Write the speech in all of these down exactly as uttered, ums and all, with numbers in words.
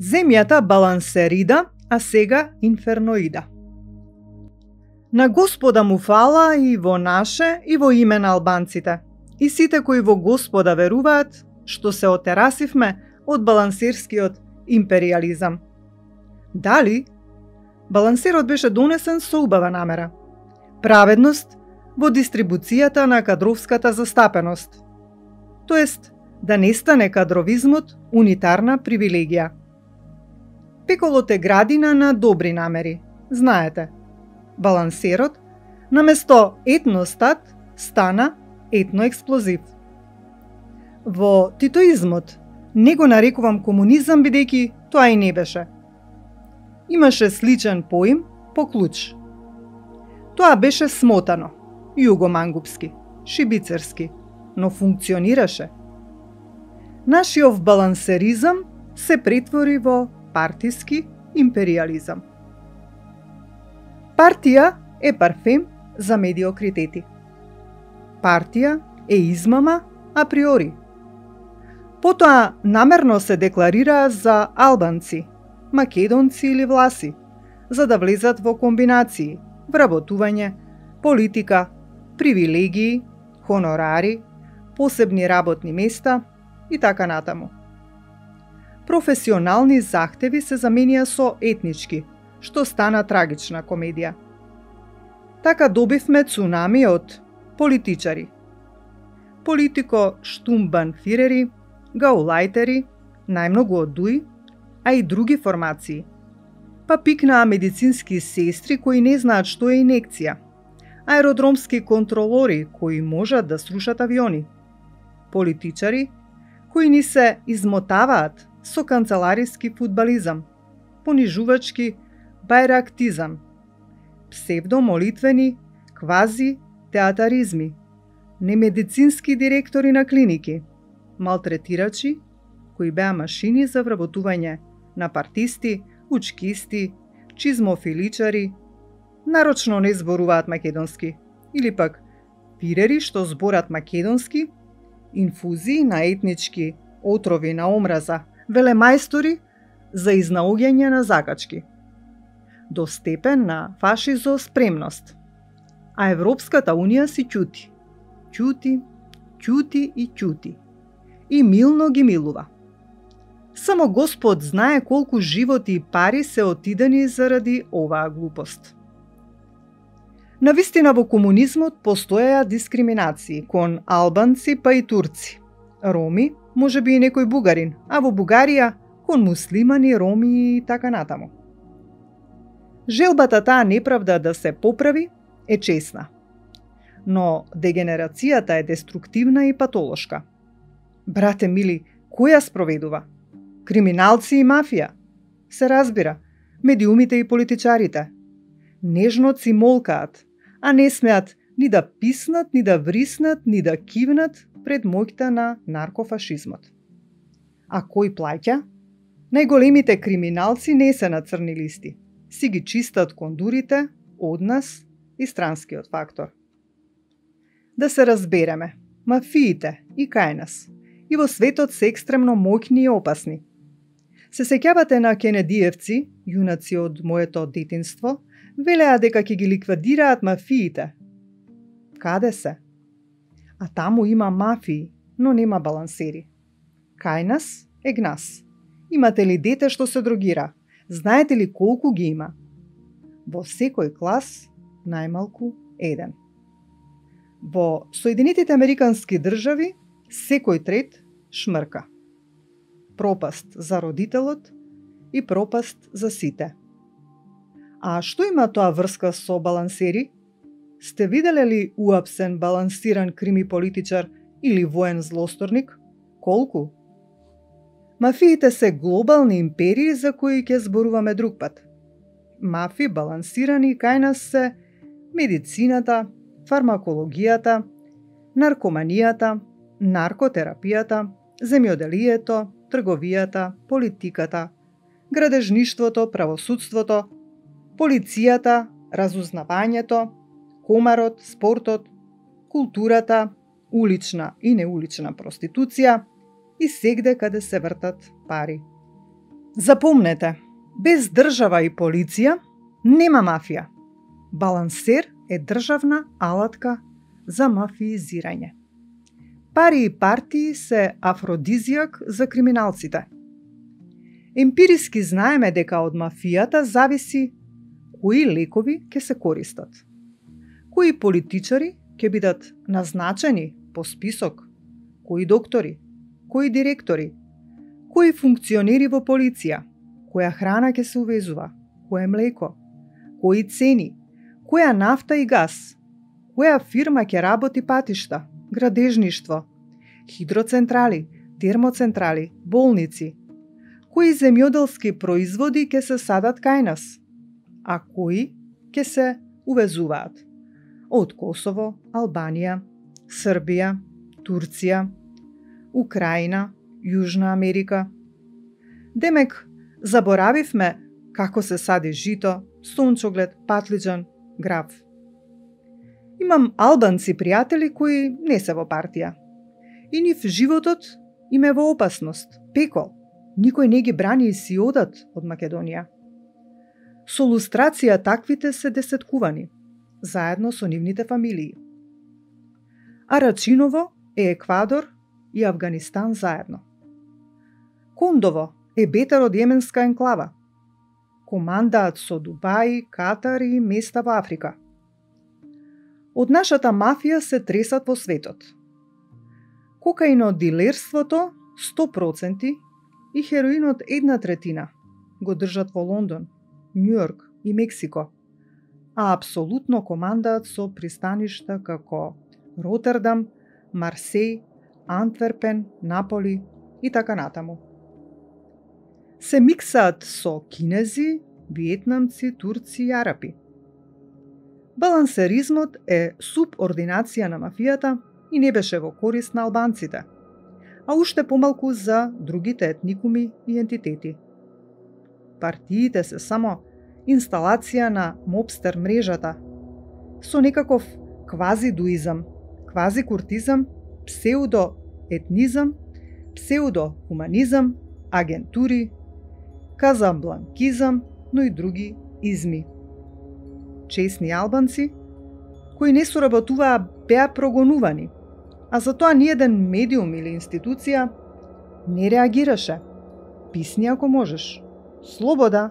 Земјата балансерида, а сега инферноида. На Господа му фала и во наше, и во име на албанците, и сите кои во Господа веруваат, што се отерасивме од балансерскиот империализам. Дали? Балансерот беше донесен со убава намера. Праведност во дистрибуцијата на кадровската застапеност. Тоест, да не стане кадровизмот унитарна привилегија. Пеколот е градина на добри намери, знаете. Балансерот, наместо етностат, стана етноексплозив. Во титоизмот не го нарекувам комунизам, бидејќи тоа и не беше. Имаше сличен поим по клуч. Тоа беше смотано, југомангупски, шибицерски, но функционираше. Нашиот балансеризам се претвори во партиски империализам. Партија е парфем за медиокритети. Партија е измама априори. Потоа намерно се декларира за албанци, македонци или власи, за да влезат во комбинации, вработување, политика, привилегии, хонорари, посебни работни места и така натаму. Професионални захтеви се заменија со етнички, што стана трагична комедија. Така добивме цунами од политичари. Политико штумбанфирери, гаулајтери, најмногу од ДУИ, а и други формации. Па пикнаа медицински сестри кои не знаат што е инекција, аеродромски контролори кои можат да срушат авиони, политичари кои ни се измотаваат со канцелариски фудбализам, понижувачки бајрактизам, псевдомолитвени квази театаризми, немедицински директори на клиники, малтретирачи кои беа машини за вработување на партисти, учкисти, чизмофиличари, нарочно не зборуваат македонски, или пак пирери што зборат македонски, инфузии на етнички отрови на омраза, велемајстори за изнаоѓање на закачки, до степен на фашизоспремност. А Европската унија си ќути, ќути, ќути и ќути, и милно ги милува. Само Господ знае колку животи и пари се отидени заради оваа глупост. Навистина во комунизмот постоеа дискриминации кон албанци па и турци, роми, можеби и некој бугарин, а во Бугарија кон муслимани, роми и така натаму. Желбата таа неправда да се поправи е чесна, но дегенерацијата е деструктивна и патолошка. Брате мили, кој ја спроведува? Криминалци и мафија? Се разбира, медиумите и политичарите. Нежно си молкаат, а не смеат ни да писнат, ни да вриснат, ни да кивнат пред моќта на наркофашизмот. А кој плаќа? Најголемите криминалци не се на црни листи. Си ги чистат кондурите од нас и странскиот фактор. Да се разбереме, мафиите и кај нас, и во светот се екстремно моќни и опасни. Се сеќавате на кенедиевци, јунаци од моето детинство, велеа дека ќе ги ликвидираат мафиите. Каде се? А таму има мафии, но нема балансери. Кај нас е гнас. Имате ли дете што се дрогира? Знаете ли колку ги има? Во секој клас најмалку еден. Во Соединетите Американски држави секој трет шмрка. Пропаст за родителот и пропаст за сите. А што има тоа врска со балансери? Сте виделе ли уапсен балансиран крими политичар или воен злосторник? Колку? Мафиите се глобални империи за кои ќе зборуваме друг пат. Мафи балансирани кај нас се медицината, фармакологијата, наркоманијата, наркотерапијата, земјоделието, трговијата, политиката, градежништвото, правосудството, полицијата, разузнавањето, комарот, спортот, културата, улична и неулична проституција и сегде каде се вртат пари. Запомнете, без држава и полиција нема мафија. Балансер е државна алатка за мафиизирање. Пари и партии се афродизијак за криминалците. Емпириски знаеме дека од мафијата зависи кои лекови ќе се користат, кои политичари ќе бидат назначени по список, кои доктори, кои директори, кои функционери во полиција, која храна ќе се увезува, кое млеко, кои цени, која нафта и газ, која фирма ќе работи патишта, градежништво, хидроцентрали, термоцентрали, болници, кои земјоделски производи ќе се садат кај нас, а кои ќе се увезуваат од Косово, Албанија, Србија, Турција, Украина, Јужна Америка. Демек, заборавивме како се сади жито, сончоглед, патлиџан, грав. Имам албанци пријатели кои не се во партија. И нив животот им е во опасност, пекол. Никој не ги брани и си одат од Македонија. Со лустрација таквите се десеткувани, заедно со нивните фамилии. Арачиново е Еквадор и Авганистан заедно. Кондово е бетар од јеменска енклава. Командаат со Дубај, Катар и места во Африка. Од нашата мафија се тресат во светот. Кокаинодилерството сто проценти и хероинот една третина го држат во Лондон, Њујорк и Мексико, а апсолутно командаат со пристаништа како Ротердам, Марсеј, Антверпен, Наполи и така натаму. Се миксаат со кинези, виетнамци, турци и арапи. Балансеризмот е субординација на мафијата и не беше во корист на албанците, а уште помалку за другите етникуми и ентитети. Партиите се само инсталација на мобстер мрежата, со некаков квазидуизам, квазикуртизам, псеудоетнизам, псеудохуманизам, агентури, казабланкизам, но и други изми. Чесни албанци, кои не соработуваа, беа прогонувани, а за тоа ниеден медиум или институција не реагираше. Писни ако можеш. Слобода.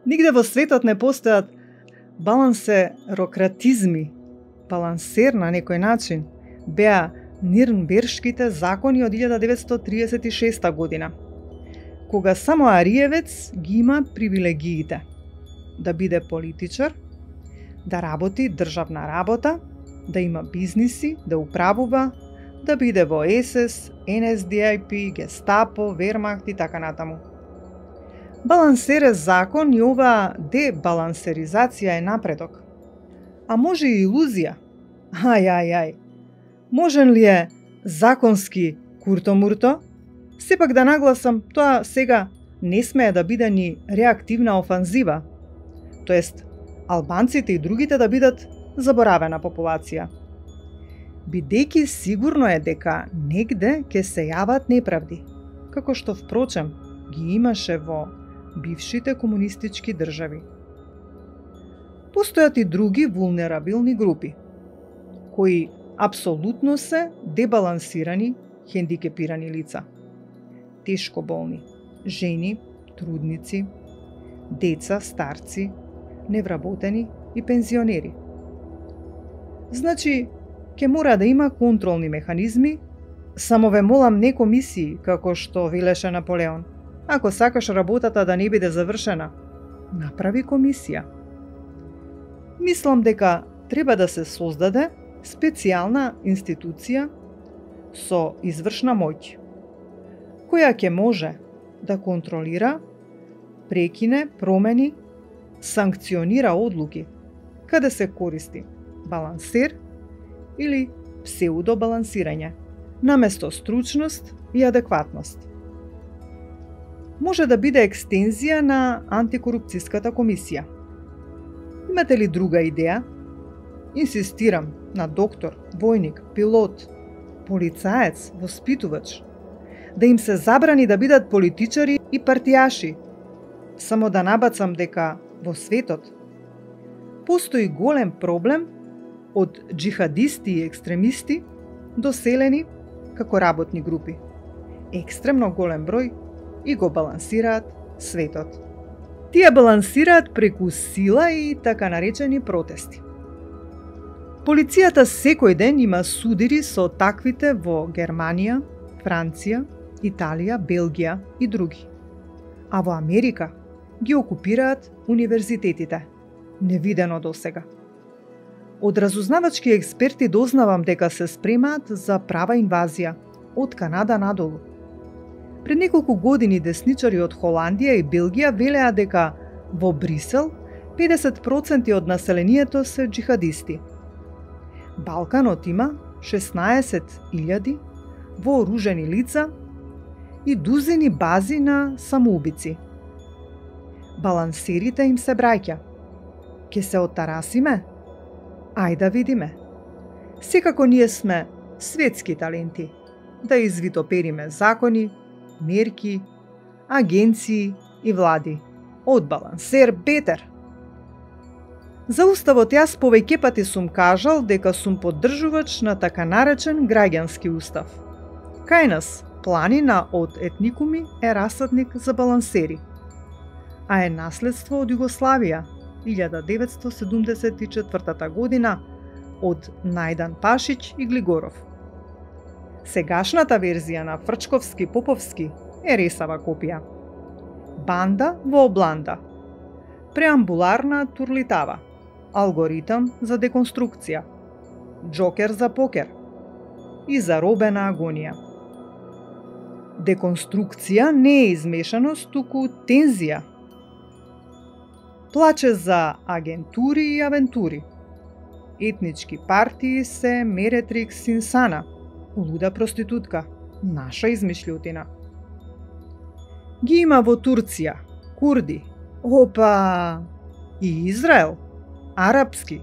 Нигде во светот не постојат балансерократизми. Балансер на некој начин беа Нирнбергшките закони од илјада деветстотини триесет и шеста година, кога само ариевец ги има привилегиите да биде политичар, да работи државна работа, да има бизниси, да управува, да биде во Ес Ес, Ен Ес Ди Ај Пи, Гестапо, Вермахт и така натаму. Балансер е закон и оваа дебалансеризација е напредок. А може и илузија. Ај, ај, ај. Можен ли е законски куртомурто? Сепак да нагласам, тоа сега не смее да биде ни реактивна офанзива, тоест албанците и другите да бидат заборавена популација. Бидејќи сигурно е дека негде ќе се јават неправди, како што впрочем ги имаше во бившите комунистички држави. Постојат и други вулнерабилни групи, кои апсолутно се дебалансирани, хендикепирани лица. Тешко болни, жени, трудници, деца, старци, невработени и пензионери. Значи, ќе мора да има контролни механизми, само ве молам не комисии, како што велеше Наполеон. Ако сакаш работата да не биде завршена, направи комисија. Мислам дека треба да се создаде специјална институција со извршна моќ, која ќе може да контролира, прекине, промени, санкционира одлуки каде се користи балансер или псеудобалансирање, наместо стручност и адекватност. Може да биде екстензија на антикорупцијската комисија. Имате ли друга идеја? Инсистирам на доктор, војник, пилот, полицаец, воспитувач, да им се забрани да бидат политичари и партијаши. Само да набацам дека во светот постои голем проблем од джихадисти и екстремисти доселени како работни групи. Екстремно голем број и го балансираат светот. Тие балансираат преку сила и така наречени протести. Полицијата секој ден има судири со таквите во Германија, Франција, Италија, Белгија и други. А во Америка ги окупираат универзитетите, невидено досега. Од разузнавачки експерти дознавам дека се спремаат за права инвазија од Канада надолу. Пред неколку години десничари од Холандија и Белгија велеа дека во Брисел педесет проценти од населението се джихадисти. Балканот има шеснаесет илјади вооружени лица и дузини бази на самоубици. Балансерите им се браќа. Ке се оттарасиме? Ај да видиме. Секако ние сме светски таленти да извитопериме закони, мерки, агенции и влади. Од балансер бетер. За уставот јас повеќе пати сум кажал дека сум поддржувач на така наречен граѓански устав. Кај нас, планина од етникуми е расадник за балансери, а е наследство од Југославија, илјада деветстотини седумдесет и четвртата година, од Најдан Пашиć и Глигоров. Сегашната верзија на Фрчковски-Поповски е ресава копија. Банда во обланда. Преамбуларна турлитава. Алгоритам за деконструкција. Джокер за покер. И заробена агонија. Деконструкција не е измешаност, туку тензија. Плаче за агентури и авентури. Етнички партии се Меретрикс Инсана, луда проститутка, наша измишлјутина. Ги има во Турција, курди, опа, и Израел, арапски,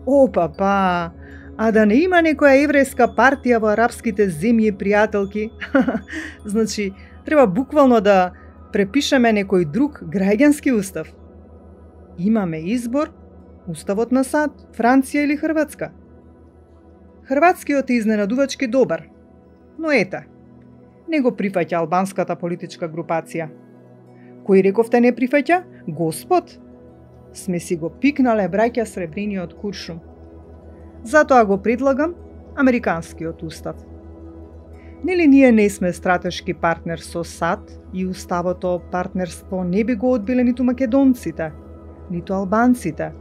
опа, па, а да не има некоја еврејска партија во арапските земји, пријателки, значи, треба буквално да препишеме некој друг граѓански устав. Имаме избор, уставот на САД, Франција или Хрватска. Хрватскиот е изненадувачки добар, но ете, не го прифаќа албанската политичка групација. Кој рековте не прифаќа? Господ? Сме си го пикнале браќа сребрениот куршум. Затоа го предлагам американскиот устав. Нели ние не сме стратешки партнер со САД и уставото партнерство не би го одбиле ниту македонците, ниту албанците,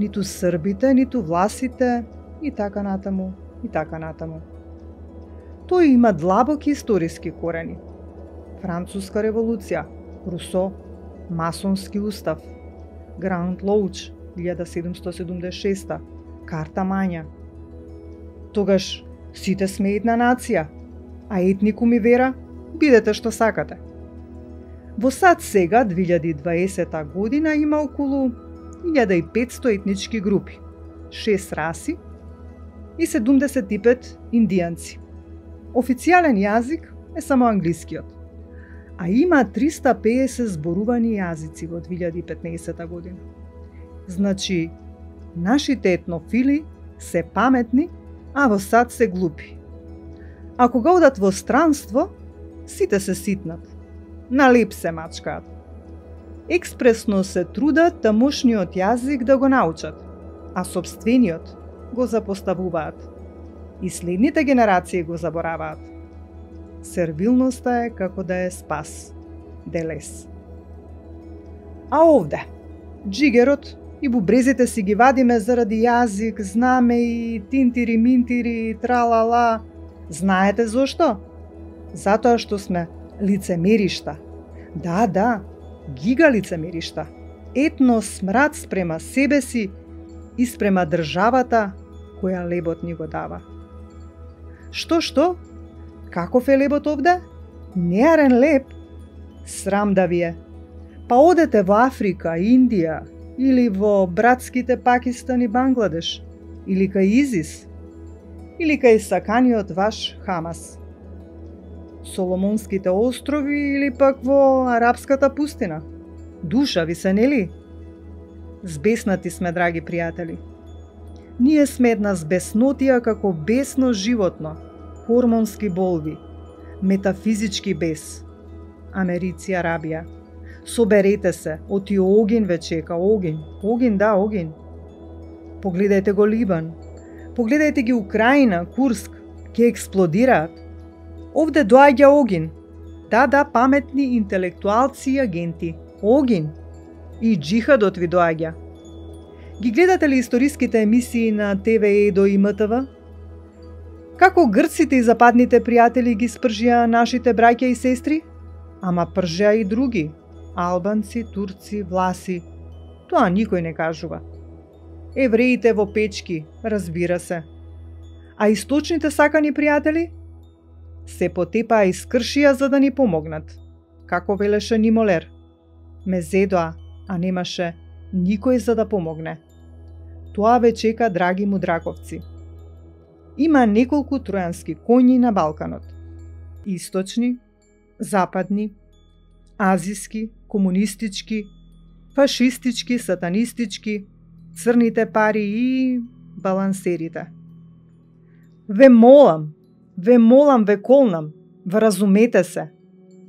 ниту србите, ниту власите и така натаму, и така натаму. Тој има длабоки историски корени. Француска револуција, Русо, масонски устав, Граунд Лоуч, илјада седумстотини седумдесет и шеста, Карта Мања. Тогаш сите сме една нација, а етникум и вера, бидете што сакате. Во САД сега, две илјади и дваесета година, има околу илјада и петсто етнички групи, шест раси и седумдесет и пет индијанци. Официјален јазик е само англискиот, а има триста и педесет зборувани јазици во две илјади и петнаесета година. Значи, нашите етнофили се паметни, а во САД се глупи. А кога одат во странство, сите се ситнат. На леп се мачкаат. Експресно се трудат тамошниот јазик да го научат, а сопствениот го запоставуваат. И следните генерации го забораваат. Сервилноста е како да е спас. Делес. А овде, джигерот и бубрезите си ги вадиме заради јазик, знаме и тинтири-минтири, тралала. Знаете зошто? Затоа што сме лицемеришта. Да, да, гига лицемеришта. Етно смрад спрема себе си и спрема државата која лебот ни го дава. Што, што? Каков е лебот овде? Неарен леб? Срам да ви е. Па одете во Африка, Индија, или во братските Пакистан и Бангладеш, или кај Изис, или кај саканиот ваш Хамас. Соломонските острови или пак во арапската пустина? Душа ви се, нели? Збеснати сме, драги пријатели. Ние сме една збеснотија како бесно животно, хормонски болви, метафизички бес. Америци, Арабија. Соберете се, оти огин ве чека, огин, огин, да, огин. Погледајте го Либан, погледајте ги Украина, Курск, ќе експлодираат. Овде доаѓа огин. Да, да, паметни интелектуалци и агенти. Огин. И джихадот ви доаѓа. Ги гледате ли историските емисии на Т В Едо и М Т В? Како грците и западните пријатели ги спржија нашите браќа и сестри? Ама пржеа и други. Албанци, турци, власи. Тоа никој не кажува. Евреите во печки, разбира се. А источните сакани пријатели? Се потепаа и скршија за да ни помогнат. Како велеше Нимолер. Ме зедоа, а немаше никој за да помогне. Тоа ве чека, драги мудраковци. Има неколку тројански коњи на Балканот. Источни, западни, азиски, комунистички, фашистички, сатанистички, црните пари и балансерите. Ве молам, ве молам, ве колнам, вразумете се,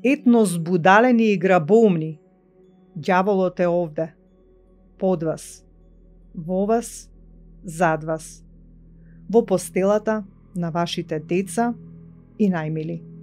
етно збудалени и грабоумни. Ѓаволот е овде, под вас, во вас, зад вас, во постелата на вашите деца и најмили.